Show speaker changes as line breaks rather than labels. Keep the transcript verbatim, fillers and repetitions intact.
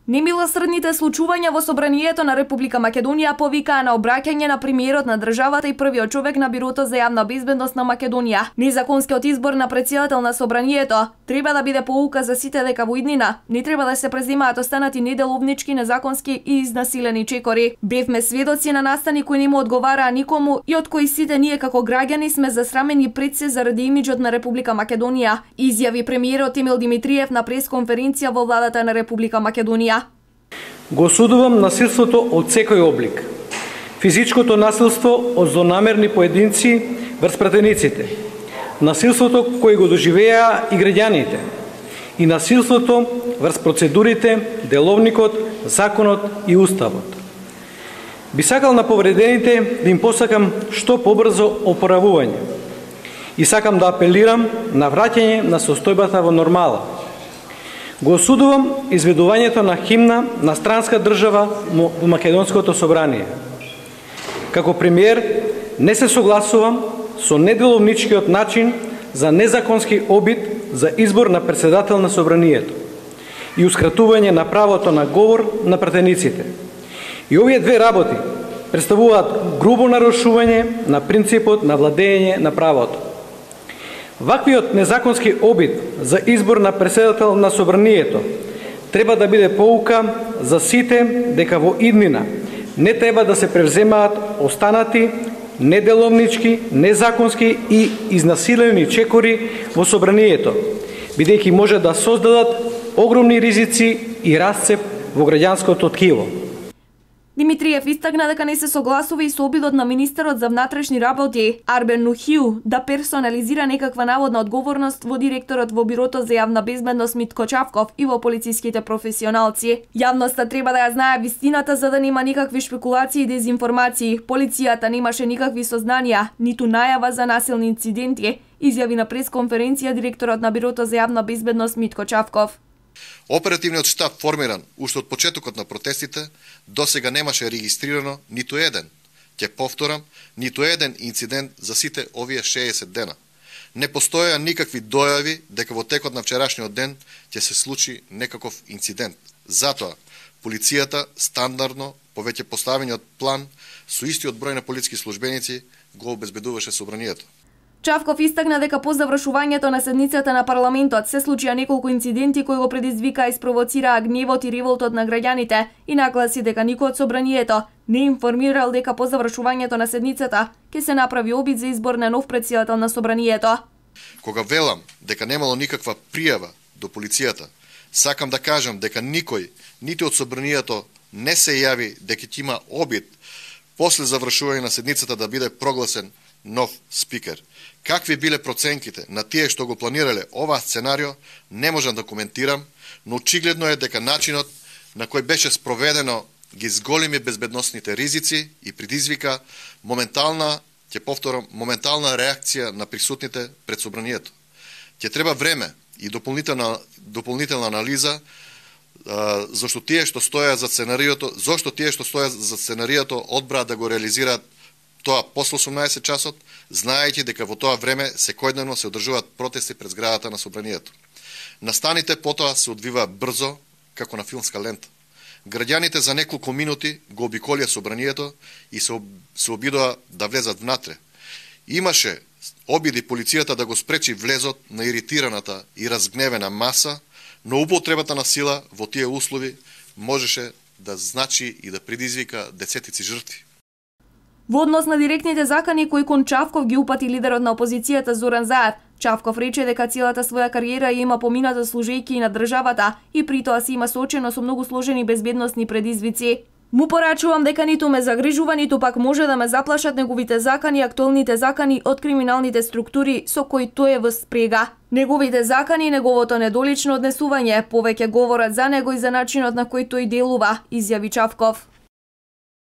Немилосрдните случувања во собранието на Република Македонија повикаа на обраќање на премиерот на државата и првиот човек на Бирото за јавна безбедност на Македонија. Незаконскиот избор на претседател на собранието треба да биде поука за сите дека во иднина не треба да се преземаат останати неделовнички, незаконски и изнасилени чекори. Бевме сведоци на настани кои не му одговараа никому и од кои сите ние како граѓани сме засрамени пред се заради имиџот на Република Македонија, изјави премиерот Емил Димитриев на пресконференција во владата на Република Македонија.
Го осудувам насилството од секој облик. Физичкото насилство од злонамерни поединци врз пратениците, насилството кој го доживеа и граѓаните, и насилството врз процедурите, деловникот, законот и уставот. Би сакал на повредените да им посакам што побрзо опоравување и сакам да апелирам на враќање на состојбата во нормала. Го осудувам изведувањето на химна на странска држава во Македонското собрание. Како премиер не се согласувам со неделовничкиот начин за незаконски обид за избор на претседател на собранието и ускратување на правото на говор на пратениците. И овие две работи представуваат грубо нарушување на принципот на владење на правото. Ваквиот незаконски обид за избор на претседател на собранието треба да биде поука за сите дека во иднина не треба да се превземаат останати неделовнички, незаконски и изнасилени чекори во собранието, бидејќи може да создадат огромни ризици и расцеп во граѓанското ткиво.
Димитриев истакна дека не се согласува и со обидот на министерот за внатрешни работи Арбен Нухиу да персонализира некаква наводна одговорност во директорот во Бирото за јавна безбедност Митко Чавков и во полициските професионалци. Јавноста треба да ја знае вистината за да нема никакви шпекулации и дезинформации. Полицијата немаше никакви сознанија, ниту најава за насилни инциденти, изјави на пресконференција директорот на Бирото за јавна безбедност Митко Чавков.
Оперативниот штаб формиран уште од почетокот на протестите, досега немаше регистрирано ниту еден, ќе повторам, ниту еден инцидент за сите овие шеесет дена. Не постоеа никакви дојави дека во текот на вчерашниот ден ќе се случи некаков инцидент. Затоа, полицијата стандардно, по веќе поставениот план, со истиот број на полициски службеници го обезбедуваше собранието.
Чавков истакна дека по завршувањето на седницата на парламентот се случија неколку инциденти кои го предизвикаа и спровоцираа гневот и револтот на граѓаните и нагласи дека никој од собранието не информирал дека по завршувањето на седницата ќе се направи обид за избор на нов претседател на собранието.
Кога велам дека немало никаква пријава до полицијата, сакам да кажам дека никој, нити од собранието не се јави дека ќе има обид после завршување на седницата да биде прогласен нов спикер. Какви биле проценките на тие што го планирале ова сценарио, не можам да коментирам, но очигледно е дека начинот на кој беше спроведено ги зголеми безбедносните ризици и предизвика моментална, ќе повторам, моментална реакција на присутните пред собранието. Ќе треба време и дополнителна, дополнителна анализа а, зашто тие што стоја за сценариото, зошто тие што стоја за сценариото одбраа да го реализираат тоа после осумнаесет часот, знаејќи дека во тоа време секојдневно се одржуваат протести пред зградата на собранието. Настаните потоа се одвиваа брзо, како на филмска лента. Граѓаните за неколку минути го обиколија собранието и се, об... се обидоа да влезат внатре. Имаше обиди полицијата да го спречи влезот на иритираната и разгневена маса, но употребата на сила во тие услови можеше да значи и да предизвика десетици жртви.
Во однос на директните закани кои кон Чавков ги упати лидерот на опозицијата Зоран Заев, Чавков рече дека целата своја кариера ја има помината служејќи и на државата и при тоа се има соочено со многу сложени безбедносни предизвици. Му порачувам дека ниту ме загрижува, ниту пак може да ме заплашат неговите закани, актуелните закани од криминалните структури со кои тој е во спрега. Неговите закани и неговото недолично однесување повеќе говорат за него и за начинот на кој тој делува, изјави Чавков.